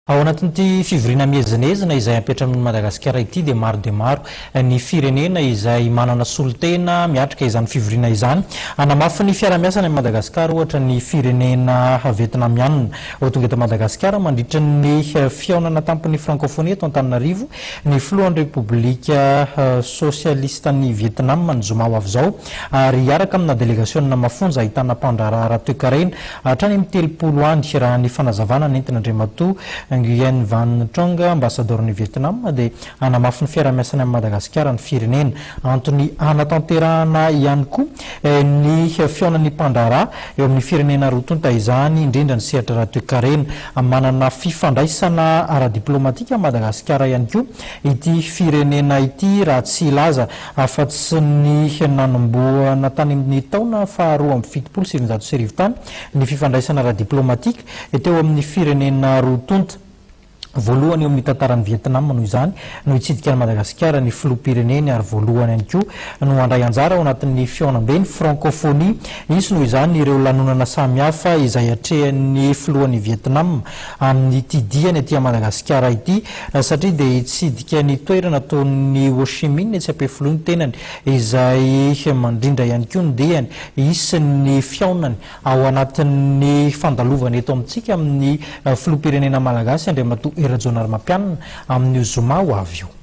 Ao anatin'ity fivoriana miezinezina izay ampiantranoin'i Madagasikara ity dia maro dia maro ny firenena izay manana solontena miatrika izany fivoriana izany. Hanamafy ny fiarahamiasany amin'i Madagasikara ohatra ny firenena vietnamianina. Ho tonga eto Madagasikara mandritra ny fihaonana tampon'ny Frankofonia eto Antananarivo ny filohan'ny Repoblika Sosialistan'i Vietnam ny zoma ho avy izao ary hiaraka amina delegasionina mafonja ahitana mpandraharaha ara-toekarena Hatrany amin'ny 30 any, raha ny fanazavana nentin'Andriamatoa Nguyen Van Trong, ambasadaoron'i Vietnam, dia hanamafy ny fiarahamiasany amin'i Madagasikara ny firenena. Antony hanatanterahana ihany koa ny fihaonan'ny mpandraharaha eo amin'ny firenena roa tonta izany, indrindra ny sehatra ara-toekarena. Manana fifandraisana ara-diplaomatika amin'i Madagasikara ihany koa ity firenena ity, raha tsy hilaza Afa-tsy ny nanombohana tany amin'ny taona faha 1972 tany ny fifandraisana ara-diplaomatika teo amin'ny firenena roa tonta. Voalohany eo amin'ny tantaran'i Vietnam noho izany no hitsidika an'i Madagasikara ny filoham-pireneny ary voalohany ihany koa no handray anjara ao anatin'ny fihaonamben'ny Frankôfônia. Hisy noho izany ireo lanonana samihafa izay hatrehan'ny filohan'i Vietnam amin'ity diany aty Madagasikara ity satria dia hitsidika ny toerana ataon'ny Ho Chi Minh etsy Ampefiloha ny tenany izay mandrindra ihany koa ny diany hisy ny fihaonany ao anatin'ny fandalovany eto amintsika amin'ny filoham-pirenena malagasy Andriamatoa Hery Rajaonarimampianina amin'io zoma ho avy io.